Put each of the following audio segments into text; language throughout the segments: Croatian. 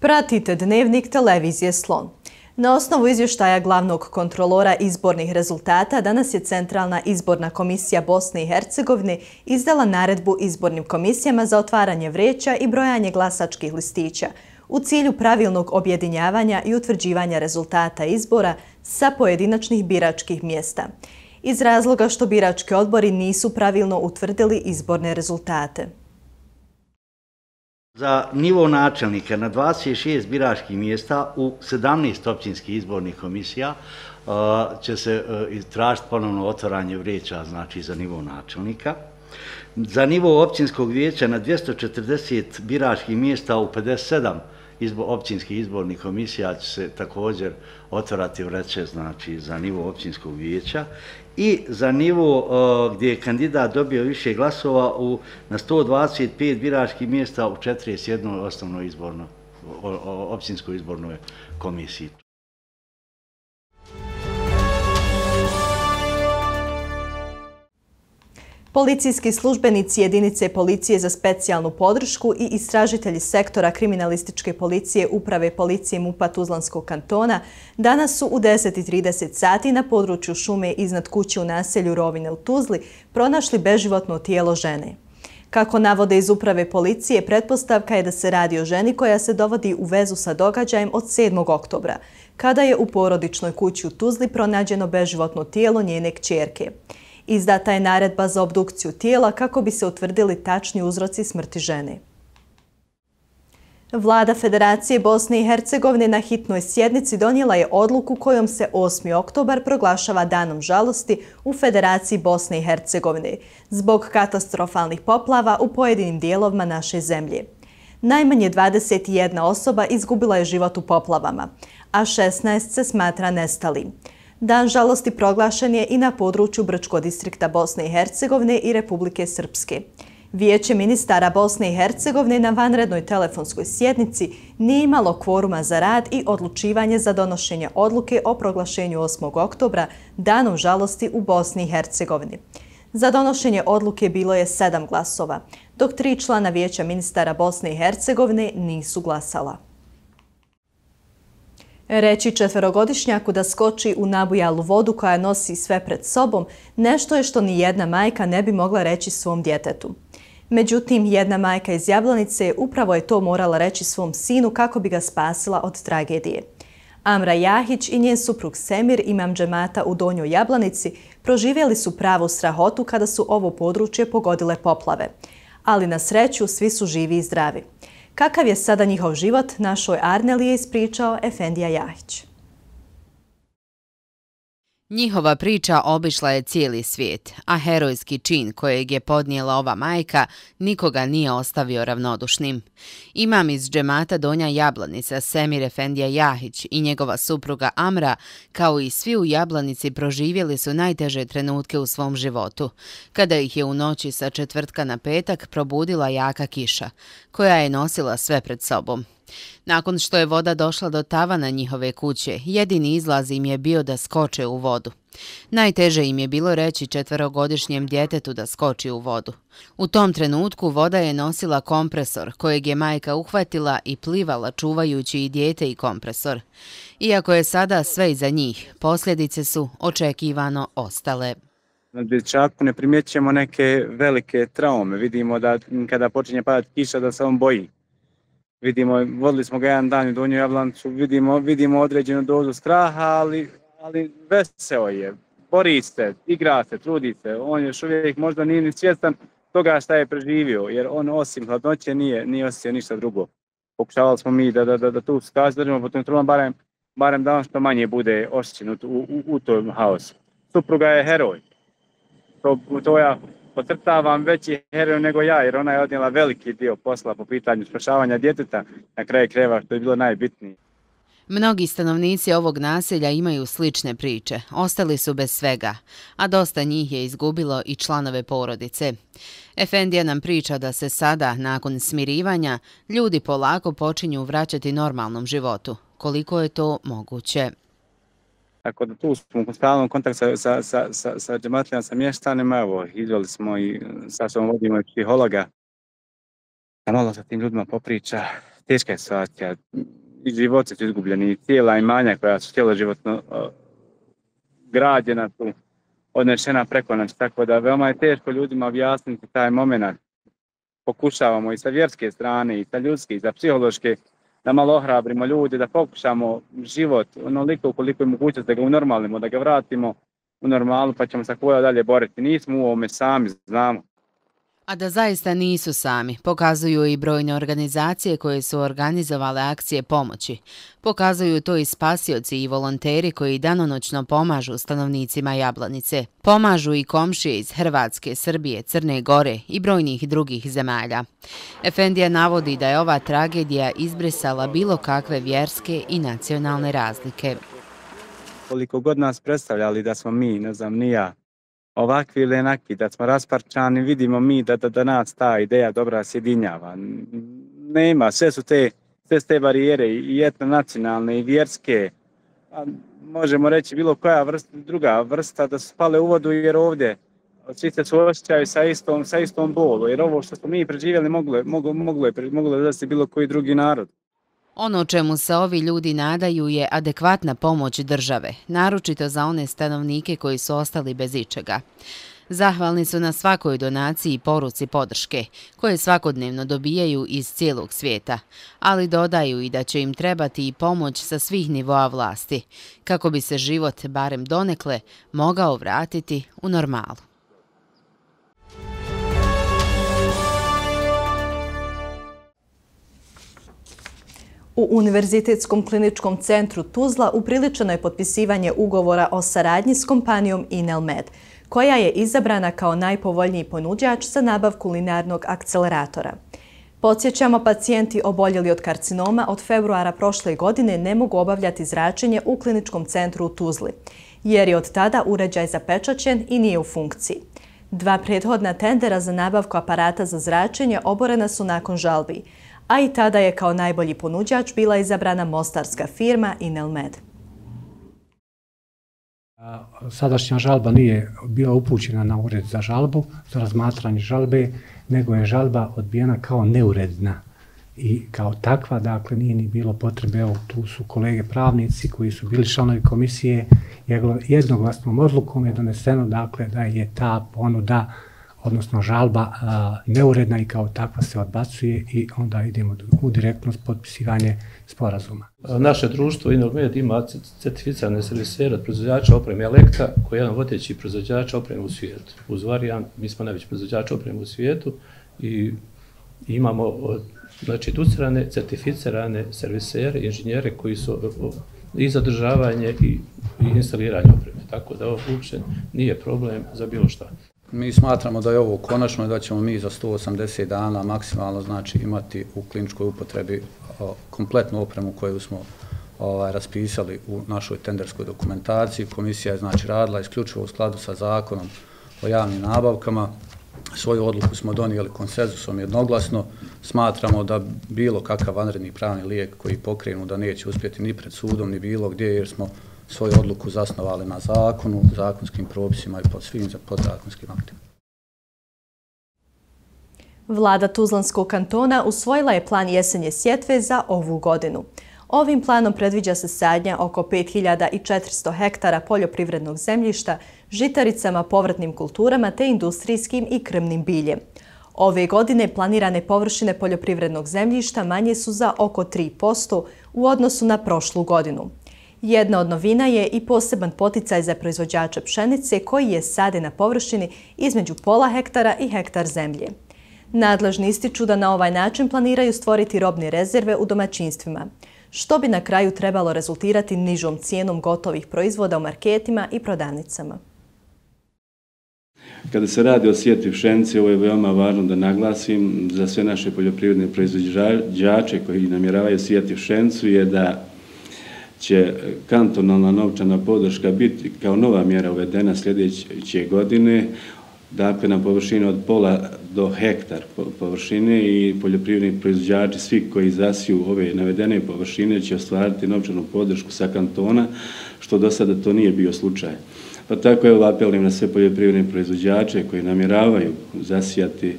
Pratite Dnevnik televizije Slon. Na osnovu izvještaja glavnog kontrolora izbornih rezultata, danas je Centralna izborna komisija Bosne i Hercegovine izdala naredbu izbornim komisijama za otvaranje vreća i brojanje glasačkih listića u cilju pravilnog objedinjavanja i utvrđivanja rezultata izbora sa pojedinačnih biračkih mjesta, iz razloga što birački odbori nisu pravilno utvrdili izborne rezultate. Za nivo načelnika na 26 biračkih mjesta u 17 općinskih izbornih komisija će se tražiti ponovno otvaranje vreća, znači za nivo načelnika. Za nivo općinskog vijeća na 240 biračkih mjesta u 57 općinskih izbornih komisija će se također otvarati vreće, znači za nivo općinskog vijeća. I za nivo gdje je kandidat dobio više glasova na 125 biračkih mjesta u 41 osnovnoj općinskoj izbornoj komisiji. Policijski službenici jedinice policije za specijalnu podršku i istražitelji sektora kriminalističke policije Uprave policije MUP-a Tuzlanskog kantona danas su u 10:30 sati na području šume iznad kuće u naselju Rovine u Tuzli pronašli beživotno tijelo žene. Kako navode iz Uprave policije, pretpostavka je da se radi o ženi koja se dovodi u vezu sa događajem od 7. oktobra, kada je u porodičnoj kući u Tuzli pronađeno beživotno tijelo njene kćerke. Izdata je naredba za obdukciju tijela kako bi se utvrdili tačni uzroci smrti žene. Vlada Federacije Bosne i Hercegovine na hitnoj sjednici donijela je odluku kojom se 8. oktobar proglašava danom žalosti u Federaciji Bosne i Hercegovine zbog katastrofalnih poplava u pojedinim dijelovima naše zemlje. Najmanje 21 osoba izgubila je život u poplavama, a 16 se smatra nestalim. Dan žalosti proglašen je i na području Brčkog distrikta Bosne i Hercegovine i Republike Srpske. Vijeće ministara Bosne i Hercegovine na vanrednoj telefonskoj sjednici nije imalo kvoruma za rad i odlučivanje za donošenje odluke o proglašenju 8. oktobra danom žalosti u Bosni i Hercegovini. Za donošenje odluke bilo je 7 glasova, dok 3 člana Vijeća ministara Bosne i Hercegovine nisu glasala. Reći 4-godišnjaku da skoči u nabujalu vodu koja nosi sve pred sobom nešto je što ni jedna majka ne bi mogla reći svom djetetu. Međutim, jedna majka iz Jablanice upravo je to morala reći svom sinu kako bi ga spasila od tragedije. Amra Jahić i njen suprug Semir, imam džemata u Donjoj Jablanici, proživjeli su pravu strahotu kada su ovo područje pogodile poplave. Ali na sreću svi su živi i zdravi. Kakav je sada njihov život, našoj Arneli je ispričao Efendija Jahić. Njihova priča obišla je cijeli svijet, a herojski čin kojeg je podnijela ova majka nikoga nije ostavio ravnodušnim. Imam iz džemata Donja Jablanica, Semir Efendija Jahić i njegova supruga Amra, kao i svi u Jablanici, proživjeli su najteže trenutke u svom životu, kada ih je u noći sa četvrtka na petak probudila jaka kiša, koja je nosila sve pred sobom. Nakon što je voda došla do tavana njihove kuće, jedini izlaz im je bio da skoče u vodu. Najteže im je bilo reći 4-godišnjem djetetu da skoči u vodu. U tom trenutku voda je nosila kompresor, kojeg je majka uhvatila i plivala čuvajući i dijete i kompresor. Iako je sada sve iza njih, posljedice su očekivano ostale. Na dječaku ne primjećujemo neke velike traume. Vidimo da kada počinje padati kiša da se on boji. Vodili smo ga jedan dan u Donju Jablanicu, vidimo određenu dozu straha, ali veseo je, bori se, igra se, trudi se. On još uvijek možda nije ni svjestan toga šta je preživio, jer on osim hladnoće nije osjetio ništa drugo. Pokušavali smo mi da tu skaz držimo pod kontrolom, barem da on što manje bude oštećen u tom haosu. Supruga je heroj. To ja podcrtavam, veći heroj nego ja, jer ona je odnijela veliki dio posla po pitanju spašavanja djeteta, na kraju krajeva, što je bilo najbitnije. Mnogi stanovnici ovog naselja imaju slične priče, ostali su bez svega, a dosta njih je izgubilo i članove porodice. Efendija nam priča da se sada, nakon smirivanja, ljudi polako počinju vraćati normalnom životu. Koliko je to moguće? Tako da tu smo u stalnom kontaktu sa džematlima, sa mještanima, evo, izveli smo i sa sobom vodimo i psihologa, da malo sa tim ljudima popriča. teška je situacija. I životi su izgubljeni, i cijela imanja koja su cjeloživotno građena su odnešena preko nas, tako da veoma je teško ljudima objasniti taj moment. Pokušavamo i sa vjerske strane, i sa ljudske, i sa psihološke, da malo ohrabrimo ljude, da pokušamo život onoliko koliko je mogućnost da ga unormalimo, da ga vratimo u normalu, pa ćemo se koja dalje boriti. Nismo u ovome sami, znamo. A da zaista nisu sami, pokazuju i brojne organizacije koje su organizovale akcije pomoći. Pokazuju to i spasioci i volonteri koji danonoćno pomažu stanovnicima Jablanice. Pomažu i komšije iz Hrvatske, Srbije, Crne Gore i brojnih drugih zemalja. Efendija navodi da je ova tragedija izbrisala bilo kakve vjerske i nacionalne razlike. Koliko god nas predstavljali da smo mi, ne znam, ni ja, ovakvi ili enaki, da smo rasparčani, vidimo mi da nas ta ideja dobra sjedinjava. Nema, sve su te barijere i etnonacionalne i vjerske. Možemo reći bilo koja druga vrsta da su spale u vodu jer ovdje svi se suosjećaju sa istom bolu. Jer ovo što smo mi preživjeli moglo da se bilo koji drugi narod. Ono čemu se ovi ljudi nadaju je adekvatna pomoć države, naročito za one stanovnike koji su ostali bez ičega. Zahvalni su na svakoj donaciji i poruci podrške, koje svakodnevno dobijaju iz cijelog svijeta, ali dodaju i da će im trebati i pomoć sa svih nivoa vlasti, kako bi se život, barem donekle, mogao vratiti u normalu. U Univerzitetskom kliničkom centru Tuzla upriličeno je potpisivanje ugovora o saradnji s kompanijom Inelmed, koja je izabrana kao najpovoljniji ponuđač za nabavku linearnog akceleratora. Podsjećamo, pacijenti oboljeli od karcinoma od februara prošle godine ne mogu obavljati zračenje u kliničkom centru u Tuzli, jer je od tada uređaj zapečaćen i nije u funkciji. 2 prethodna tendera za nabavku aparata za zračenje oborena su nakon žalbi, a i tada je kao najbolji ponuđač bila izabrana mostarska firma Inelmed. Sadašnja žalba nije bila upućena na ured za žalbu, za razmatranje žalbe, nego je žalba odbijena kao neuredna. I kao takva, dakle, nije ni bilo potrebe, evo, tu su kolege pravnici koji su bili članovi komisije, jednoglasnom odlukom je doneseno, dakle, da je ta ponuda, odnosno žalba, neuredna i kao takva se odbacuje i onda idemo u direktno potpisivanje sporazuma. Naše društvo Inelmed ima certificirane servisere od proizvođača opreme Elektra, koji je jedan vodeći proizvođač opreme u svijetu. Uz Varijan, mi smo najveći proizvođač opreme u svijetu i imamo educirane, certificirane servisere, inženjere koji su i zadržavanje i instaliranje opreme. Tako da ovo uopće nije problem za bilo šta. Mi smatramo da je ovo konačno i da ćemo mi za 180 dana maksimalno imati u kliničkoj upotrebi kompletnu opremu koju smo raspisali u našoj tenderskoj dokumentaciji. Komisija je radila isključivo u skladu sa zakonom o javnim nabavkama. Svoju odluku smo donijeli konsenzusom jednoglasno. Smatramo da bilo kakav vanredni pravni lijek koji pokrenu da neće uspjeti ni pred sudom ni bilo gdje, jer smo svoju odluku zasnovali na zakonu, zakonskim propisima i pod svim podzakonskim aktima. Vlada Tuzlanskog kantona usvojila je plan jesenje sjetve za ovu godinu. Ovim planom predviđa se sadnja oko 5400 hektara poljoprivrednog zemljišta, žitaricama, povratnim kulturama te industrijskim i krmnim biljem. Ove godine planirane površine poljoprivrednog zemljišta manje su za oko 3% u odnosu na prošlu godinu. Jedna od novina je i poseban poticaj za proizvođače pšenice koji je sade na površini između pola hektara i hektar zemlje. Nadležni ističu da na ovaj način planiraju stvoriti robne rezerve u domaćinstvima, što bi na kraju trebalo rezultirati nižom cijenom gotovih proizvoda u marketima i prodavnicama. Kada se radi o sjetvi pšenice, ovo je veoma važno da naglasim za sve naše poljoprivredne proizvođače koji namjeravaju sijati pšenicu je da će kantonalna novčana podrška biti kao nova mjera uvedena sljedeće godine, dakle na površini od pola do hektar površine i poljoprivredni proizvođači, svi koji zasiju ove navedene površine će ostvariti novčanu podršku sa kantona, što do sada to nije bio slučaj. Pa tako evo apelujem na sve poljoprivredne proizvođače koji namjeravaju zasijati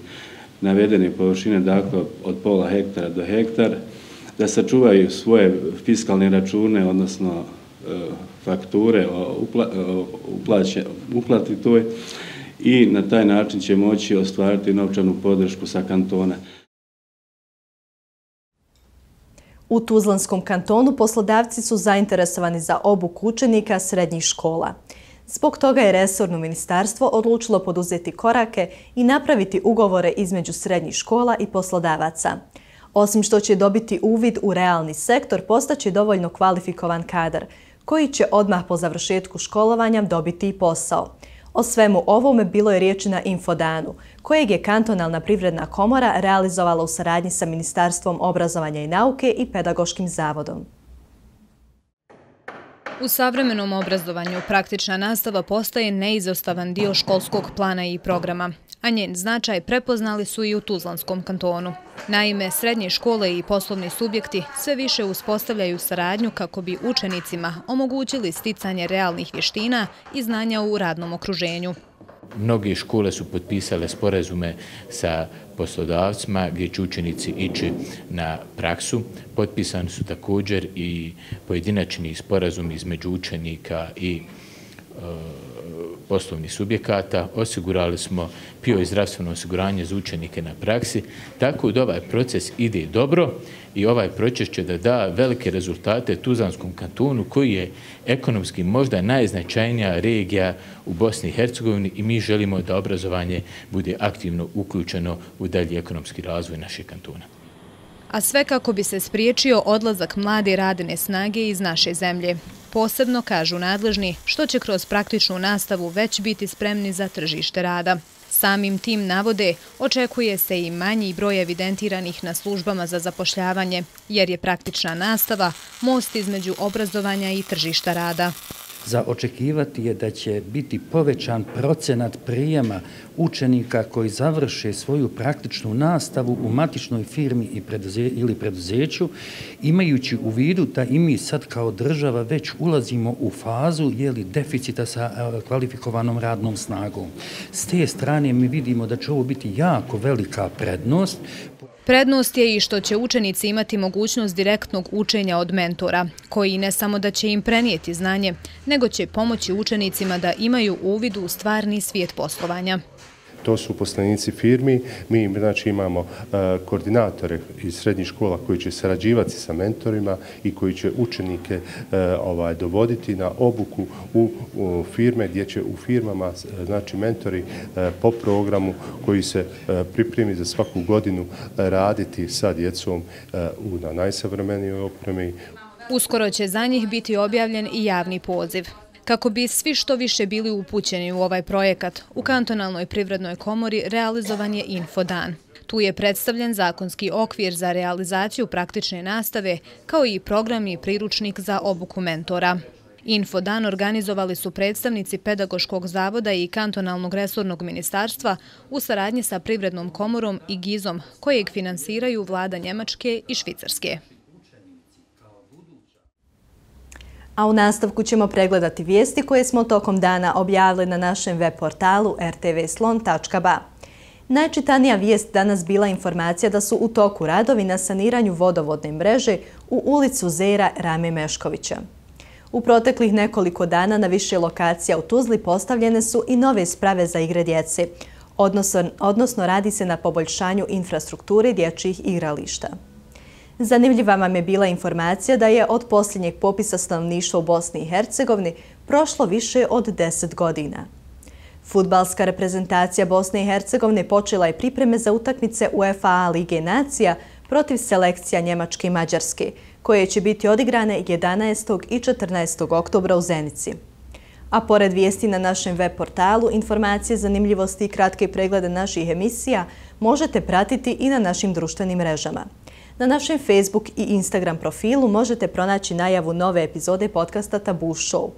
navedene površine, dakle od pola hektara do hektar, da sačuvaju svoje fiskalne račune, odnosno fakture uplati toj i na taj način će moći ostvariti novčanu podršku sa kantona. U Tuzlanskom kantonu poslodavci su zainteresovani za obuku učenika srednjih škola. Zbog toga je resorno ministarstvo odlučilo poduzeti korake i napraviti ugovore između srednjih škola i poslodavaca. Osim što će dobiti uvid u realni sektor, postaće dovoljno kvalifikovan kadar, koji će odmah po završetku školovanja dobiti i posao. O svemu ovome bilo je riječi na Infodanu, kojeg je Kantonalna privredna komora realizovala u saradnji sa Ministarstvom obrazovanja i nauke i Pedagoškim zavodom. U savremenom obrazovanju praktična nastava postaje neizostavan dio školskog plana i programa, a njen značaj prepoznali su i u Tuzlanskom kantonu. Naime, srednje škole i poslovni subjekti sve više uspostavljaju saradnju kako bi učenicima omogućili sticanje realnih vještina i znanja u radnom okruženju. Mnoge škole su potpisale sporazume sa poslodavcima gdje će učenici ići na praksu. Potpisani su također i pojedinačni sporazumi između učenika i poslovnih subjekata. Osigurali smo PIO i zdravstveno osiguranje za učenike na praksi, tako da ovaj proces ide dobro i ovaj proces će da velike rezultate Tuzlanskom kantonu, koji je ekonomski možda najznačajnija regija u Bosni i Hercegovini, i mi želimo da obrazovanje bude aktivno uključeno u dalji ekonomski razvoj našeg kantona. A sve kako bi se spriječio odlazak mlade radne snage iz naše zemlje. Posebno, kažu nadležni, što će kroz praktičnu nastavu već biti spremni za tržište rada. Samim tim, navode, očekuje se i manji broj evidentiranih na službama za zapošljavanje, jer je praktična nastava most između obrazovanja i tržišta rada. Za očekivati je da će biti povećan procenat prijema učenika koji završe svoju praktičnu nastavu u matičnoj firmi ili preduzeću, imajući u vidu da i mi sad kao država već ulazimo u fazu deficita sa kvalifikovanom radnom snagom. S te strane mi vidimo da će ovo biti jako velika prednost. Prednost je i što će učenici imati mogućnost direktnog učenja od mentora, koji ne samo da će im prenijeti znanje, nego će pomoći učenicima da imaju uvid u stvarni svijet poslovanja. To su uposlenici firmi, mi imamo koordinatore iz srednjih škola koji će sarađivati sa mentorima i koji će učenike dovoditi na obuku u firme, gdje će u firmama mentori po programu koji se pripremi za svaku godinu raditi sa djecom na najsavremenijoj opremi. Uskoro će za njih biti objavljen i javni poziv. Kako bi svi što više bili upućeni u ovaj projekat, u Kantonalnoj privrednoj komori realizovan je Infodan. Tu je predstavljen zakonski okvir za realizaciju praktične nastave, kao i program i priručnik za obuku mentora. Infodan organizovali su predstavnici Pedagoškog zavoda i Kantonalnog resornog ministarstva u saradnji sa Privrednom komorom i GIZ-om, kojeg finansiraju vlada Njemačke i Švicarske. A u nastavku ćemo pregledati vijesti koje smo tokom dana objavili na našem web portalu rtvslon.ba. Najčitanija vijest danas bila informacija da su u toku radovi na saniranju vodovodne mreže u ulicu Zera Rame Meškovića. U proteklih nekoliko dana na više lokacija u Tuzli postavljene su i nove sprave za igre djece, odnosno radi se na poboljšanju infrastrukture dječjih igrališta. Zanimljiva vam je bila informacija da je od posljednjeg popisa stanovništva u Bosni i Hercegovini prošlo više od 10 godina. Fudbalska reprezentacija Bosne i Hercegovine počela je pripreme za utakmice UEFA Lige nacija protiv selekcija Njemačke i Mađarske, koje će biti odigrane 11. i 14. oktobra u Zenici. A pored vijesti na našem web portalu, informacije, zanimljivosti i kratke preglede naših emisija možete pratiti i na našim društvenim mrežama. Na našem Facebook i Instagram profilu možete pronaći najavu nove epizode podcasta Tabu Show,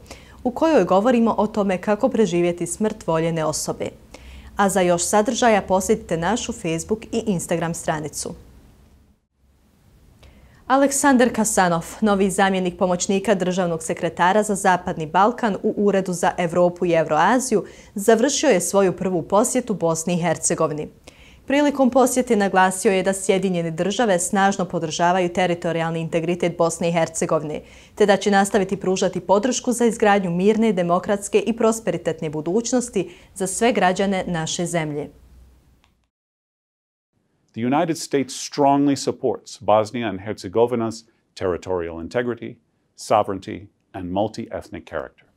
u kojoj govorimo o tome kako preživjeti smrt voljene osobe. A za još sadržaja posjetite našu Facebook i Instagram stranicu. Aleksandar Kasanov, novi zamjenik pomoćnika državnog sekretara za Zapadni Balkan u Uredu za Evropu i Evroaziju, završio je svoju prvu posjetu Bosni i Hercegovini. Prilikom posjete naglasio je da Sjedinjene države snažno podržavaju teritorijalni integritet Bosne i Hercegovine, te da će nastaviti pružati podršku za izgradnju mirne, demokratske i prosperitetne budućnosti za sve građane naše zemlje. The United States strongly supports Bosnia and Herzegovina's territorial integrity, sovereignty, and multi-ethnic character.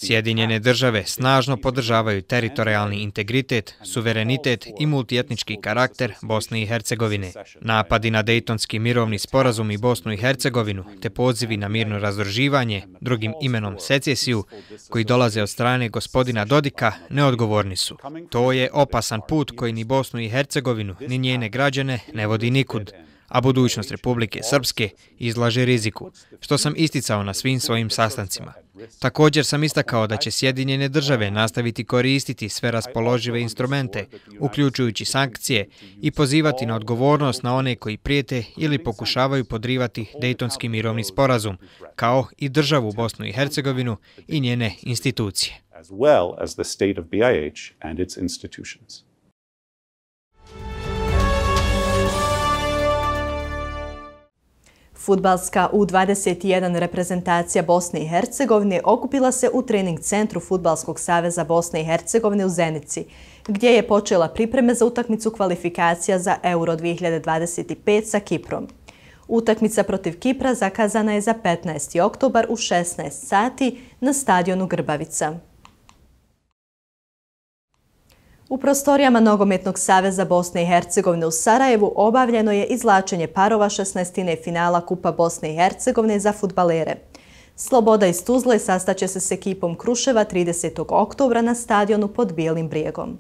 Sjedinjene države snažno podržavaju teritorijalni integritet, suverenitet i multietnički karakter Bosne i Hercegovine. Napadi na Dejtonski mirovni sporazum i Bosnu i Hercegovinu, te pozivi na mirno razdruživanje, drugim imenom secesiju, koji dolaze od strane gospodina Dodika, neodgovorni su. To je opasan put koji ni Bosnu i Hercegovinu, ni njene građane ne vodi nikud, a budućnost Republike Srpske izlaže riziku, što sam isticao na svim svojim sastancima. Također sam istakao da će Sjedinjene države nastaviti koristiti sve raspoložive instrumente, uključujući sankcije, i pozivati na odgovornost na one koji prijete ili pokušavaju podrivati Dejtonski mirovni sporazum, kao i državu Bosnu i Hercegovinu i njene institucije. As well as the state of BiH and its institutions. Fudbalska U21 reprezentacija Bosne i Hercegovine okupila se u trening centru Fudbalskog saveza Bosne i Hercegovine u Zenici, gdje je počela pripreme za utakmicu kvalifikacija za Euro 2025 sa Kiprom. Utakmica protiv Kipra zakazana je za 15. oktobar u 16 sati na stadionu Grbavica. U prostorijama Nogometnog saveza Bosne i Hercegovine u Sarajevu obavljeno je izvlačenje parova 16. finala Kupa Bosne i Hercegovine za fudbalere. Sloboda iz Tuzle sastaće se s ekipom Kruševa 30. oktobra na stadionu pod Bijelim brijegom.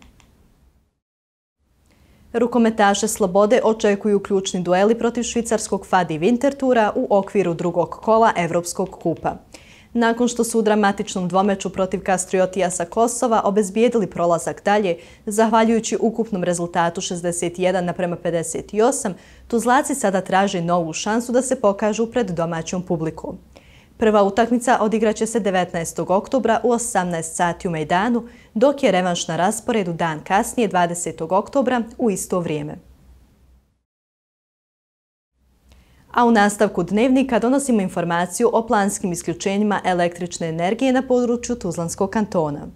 Rukometaše Slobode očekuju ključni dueli protiv švicarskog Fadi Wintertura u okviru drugog kola Evropskog kupa. Nakon što su u dramatičnom dvomeču protiv Kastriotija sa Kosova obezbijedili prolazak dalje, zahvaljujući ukupnom rezultatu 61:58, Tuzlaci sada traže novu šansu da se pokažu pred domaćom publikom. Prva utakmica odigraće se 19. oktobra u 18 sati u Mejdanu, dok je revanš na rasporedu dan kasnije 20. oktobra u isto vrijeme. A u nastavku dnevnika donosimo informaciju o planskim isključenjima električne energije na području Tuzlanskog kantona.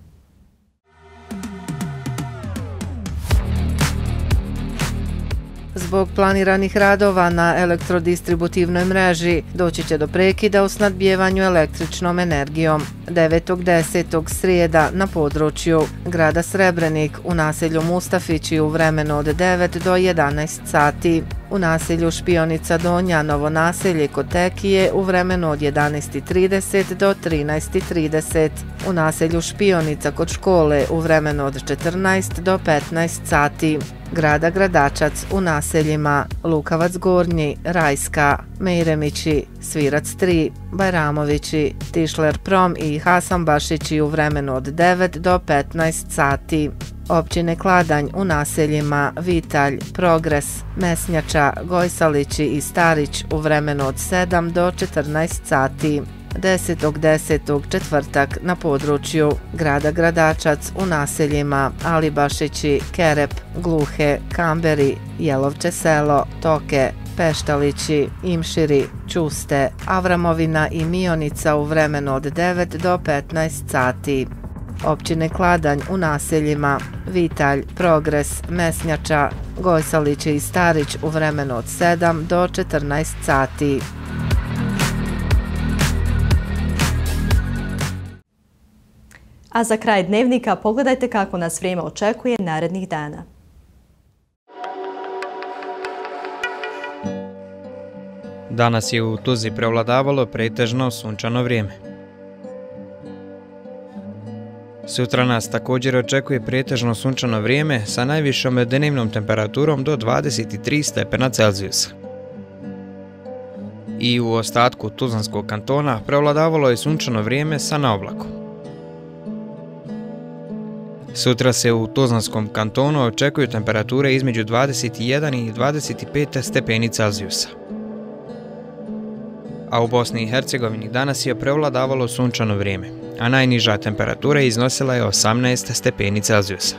Zbog planiranih radova na elektrodistributivnoj mreži doći će do prekida u snabdijevanju električnom energijom. 9.10. srijeda na području grada Srebrenik u naselju Mustafići u vremenu od 9 do 11 sati. U naselju Špionica Donja, Novo naselje kod Tekije u vremenu od 11.30 do 13.30. U naselju Špionica kod škole u vremenu od 14 do 15 sati. Grada Gradačac u naseljima Lukavac Gornji, Rajska, Mejremići, Svirac 3, Bajramovići, Tišler Prom i Hasanbašići u vremenu od 9 do 15 sati. Općine Kladanj u naseljima Vitalj, Progres, Mesnjača, Gojsalići i Starić u vremenu od 7 do 14 sati. 10.10. četvrtak na području grada Gradačac u naseljima Alibašići, Kerep, Gluhe, Kamberi, Jelovče selo, Toke, Peštalići, Imširi, Čuste, Avramovina i Mionica u vremenu od 9 do 15 sati. Općine Kladanj u naseljima Vitalj, Progres, Mesnjača, Gojsalići i Starić u vremenu od 7 do 14 sati. A za kraj dnevnika pogledajte kako nas vrijeme očekuje narednih dana. Danas je u Tuzli prevladavalo pretežno sunčano vrijeme. Sutra nas također očekuje pretežno sunčano vrijeme sa najvišom dnevnom temperaturom do 23 stepena Celzijusa. I u ostatku Tuzlanskog kantona prevladavalo je sunčano vrijeme sa naoblakom. Sutra se u Tuzlanskom kantonu očekuju temperature između 21 i 25 stepeni Celzijusa. A u Bosni i Hercegovini danas je prevladavalo sunčano vrijeme, a najniža temperatura iznosila je 18 stepeni Celzijusa.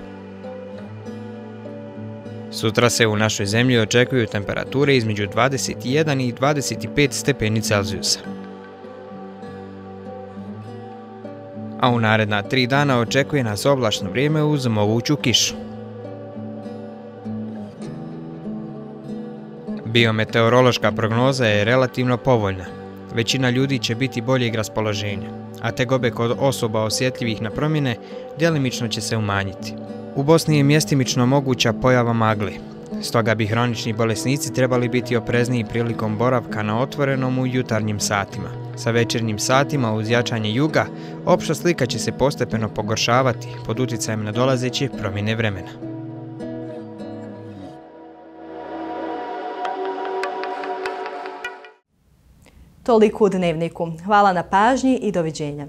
Sutra se u našoj zemlji očekuju temperature između 21 i 25 stepeni Celzijusa. A u naredna 3 dana očekuje nas oblačno vrijeme uz moguću kišu. Biometeorološka prognoza je relativno povoljna. Većina ljudi će biti boljeg raspoloženja, a tegobe kod osoba osjetljivih na promjene djelimično će se umanjiti. U Bosni je mjestimično moguća pojava magle, stoga bi hronični bolesnici trebali biti oprezniji prilikom boravka na otvorenom u jutarnjim satima. Sa večernjim satima uz jačanje juga, opšta slika će se postepeno pogoršavati pod utjecajem nadolazeće promjene vremena. Toliko u Dnevniku. Hvala na pažnji i doviđenja.